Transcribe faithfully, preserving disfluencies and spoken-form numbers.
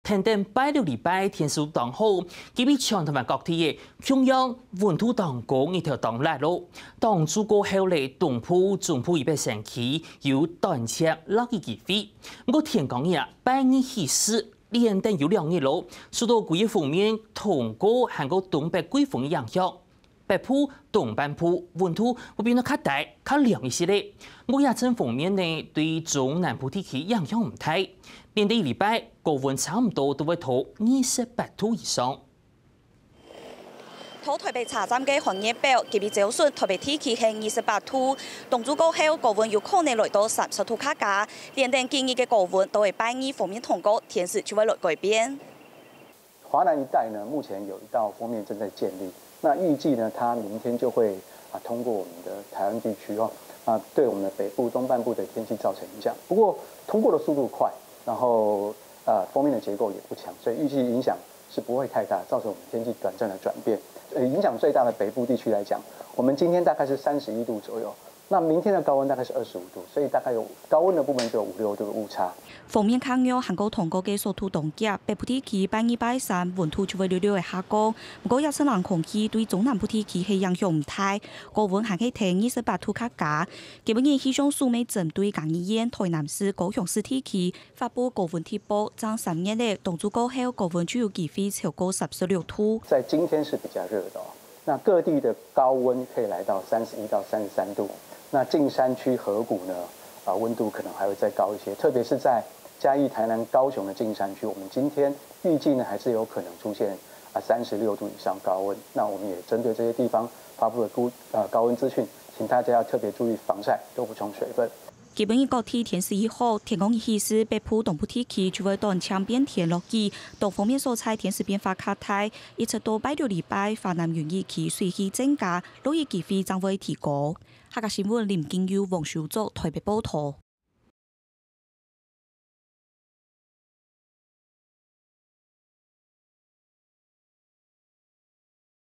跈等拜六禮拜天時當好，今晡日全臺灣各地个共樣溫度當高，日頭當烈咯。當晝過後咧，東部、中部以北山區有短暫落雨機會。毋過天光日啊，拜二起勢，連等有兩日咯，受到幾個鋒面通過還過東北季風个影響，北部、東半部溫度會變到較低、較涼一息咧。毋過這陣鋒面呢，對中南部地區影響毋大。連等禮拜高溫差毋多都會到二十八度以上。到臺北車站个寒熱表，今晡日朝晨臺北地區係二十八度，當晝過後高溫有可能來到三十度較加，連等幾日个高溫都會拜二鋒面通過，天時就會來改變。 華南一帶呢，目前有一道鋒面正在建立，那預計呢，它明天就會啊通過我們的臺灣地區哦，啊對我們的北部、東半部的天氣造成影響。不過通過的速度快，然後呃鋒面的結構也不強，所以預計影響是不會太大，造成我們天氣短暫的轉變。呃，影響最大的北部地區來講，我們今天大概是三十一度左右， 那明天的高溫大概是二十五度，所以大概有高溫的部分就有五六度的誤差。鋒面較弱還過通過个速度當遽，北部地區拜二、拜三溫度就會略略个下降。毋過這陣冷空氣對中南部地區係影響毋大，高溫還係跈二十八度較加。今晡日氣象署乜針對嘉義縣、臺南市、高雄市地區發布高溫特報，正三日咧，當晝過後高溫就有機會超過三十六度。在今天是比較熱的哦。 那各地的高溫可以來到三十一到三十三度。那近山區河谷呢，啊溫度可能還會再高一些，特別是在嘉義、臺南、高雄的近山區，我們今天預計呢還是有可能出現啊三十六度以上高溫。那我們也針對這些地方發布了高呃高溫資訊，請大家要特別注意防曬，多補充水分。 今晡日各地天時已好，天光日起勢，北部、東部地區就會短暫變天落雨，當鋒面所在天時變化較大，一直到拜六禮拜，華南雲雨區水氣增加，落雨機會正會提高。客家新聞林金佑、黃修作臺北報導。